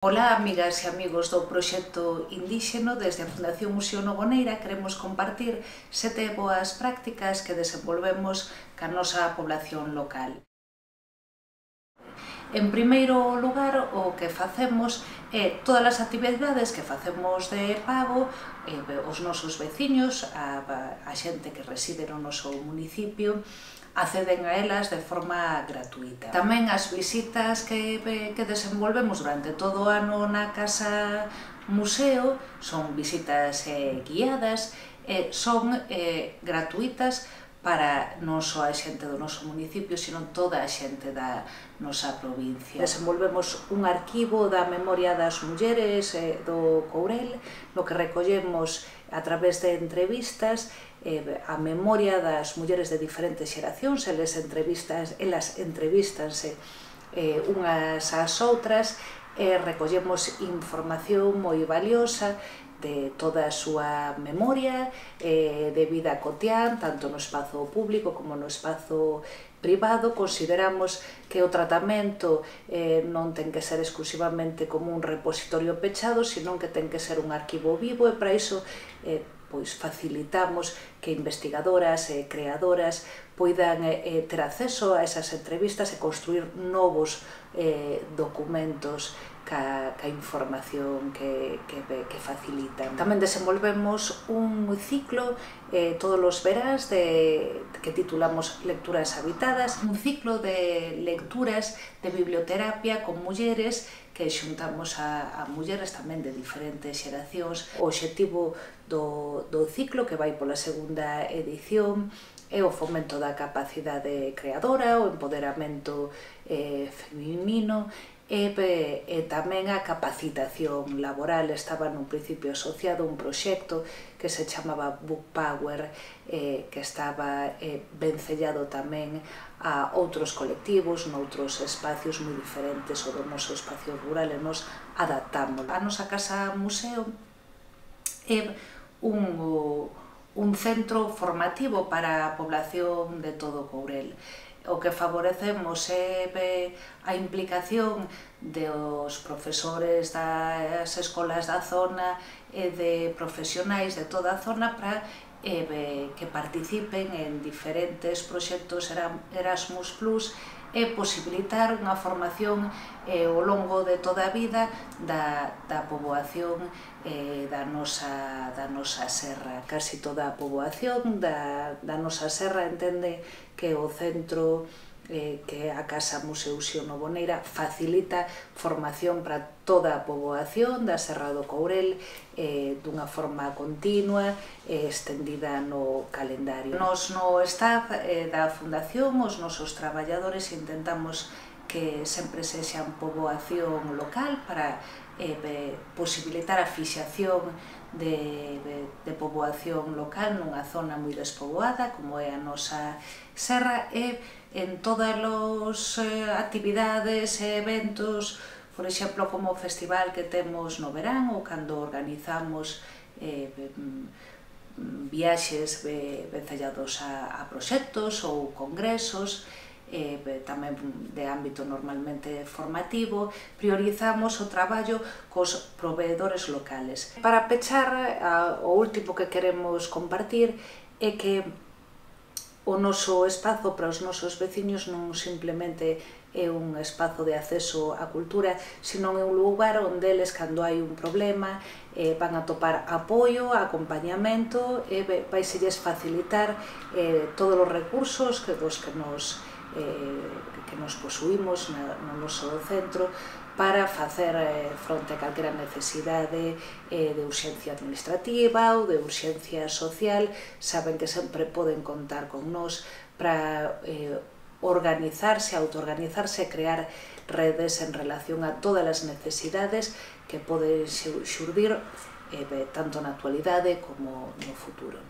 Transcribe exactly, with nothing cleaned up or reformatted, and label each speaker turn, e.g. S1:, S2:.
S1: Ola, amigas e amigos do proxecto Indíxeno. Desde a Fundación Museo Novoneira queremos compartir sete boas prácticas que desenvolvemos ca nosa población local. En primeiro lugar, o que facemos é todas as actividades que facemos de pago, eh, os nosos veciños, a, a xente que reside no noso municipio, acceden a elas de forma gratuita. Tamén as visitas que, que desenvolvemos durante todo o ano na Casa Museo son visitas eh, guiadas, eh, son eh, gratuitas para non só a xente do noso municipio, sino toda a xente da nosa provincia. Desenvolvemos un arquivo da memoria das mulleres eh, do Courel, no que recollemos a través de entrevistas eh, a memoria das mulleres de diferentes xeracións. Eles entrevistas, elas entrevístanse eh, unhas ás outras e recollemos información moi valiosa de toda a súa memoria eh, de vida cotián, tanto no espazo público como no espazo privado. Consideramos que o tratamento eh, non ten que ser exclusivamente como un repositorio pechado, senón que ten que ser un arquivo vivo, e para iso eh, pois facilitamos que investigadoras e creadoras poidan eh, ter acceso a esas entrevistas e construir novos eh, documentos ca, ca información que, que, que facilitan. Tamén desenvolvemos un ciclo eh, todos os veráns de, que titulamos Lecturas Habitadas, un ciclo de lecturas de biblioterapia con mulleres que xuntamos a, a mulleres tamén de diferentes xeracións. O obxectivo do, do ciclo, que vai pola segunda edición, é o fomento da capacidade creadora, o empoderamento eh, feminino, e, e tamén a capacitación laboral. Estaba nun principio asociado a un proxecto que se chamaba Book Power, eh, que estaba eh, vencellado tamén a outros colectivos, noutros espacios moi diferentes ao do noso espacio rural, e nos adaptamos. A nosa Casa Museo é un, un centro formativo para a población de todo Courel. O que favorecemos é a implicación dos profesores das escolas da zona e de profesionais de toda a zona para que participen en diferentes proxectos Erasmus plus e posibilitar unha formación ao longo de toda a vida da, da poboación eh, da, nosa, da nosa serra. Casi toda a poboación da, da nosa serra entende que o centro eh, que a Casa Museo Novoneira facilita formación para toda a poboación da Serra do Courel eh, dunha forma continua e eh, estendida no calendario. Nos no staff eh, da Fundación, os nosos traballadores, intentamos que sempre sexan poboación local para eh, posibilitar a fixación de, de, de poboación local nunha zona moi despoboada como é a nosa serra, e en todas as eh, actividades e eventos, por exemplo, como o festival que temos no verán, ou cando organizamos eh, viaxes vencellados a, a proxectos ou congresos, eh, tamén de ámbito normalmente formativo, priorizamos o traballo cos proveedores locales. Para pechar, a, o último que queremos compartir é que o noso espazo para os nosos veciños non simplemente é un espazo de acceso á cultura, sino é un lugar onde eles, cando hai un problema, eh, van a topar apoio, acompañamento, e vai se lles facilitar eh, todos os recursos que, dos que nos, eh, que nos posuímos na, no noso centro para facer eh, fronte a calquera necesidade eh, de urxencia administrativa ou de urxencia social. Saben que sempre poden contar con nós para eh, organizarse, autoorganizarse e crear redes en relación a todas as necesidades que poden xurdir eh, tanto na actualidade como no futuro.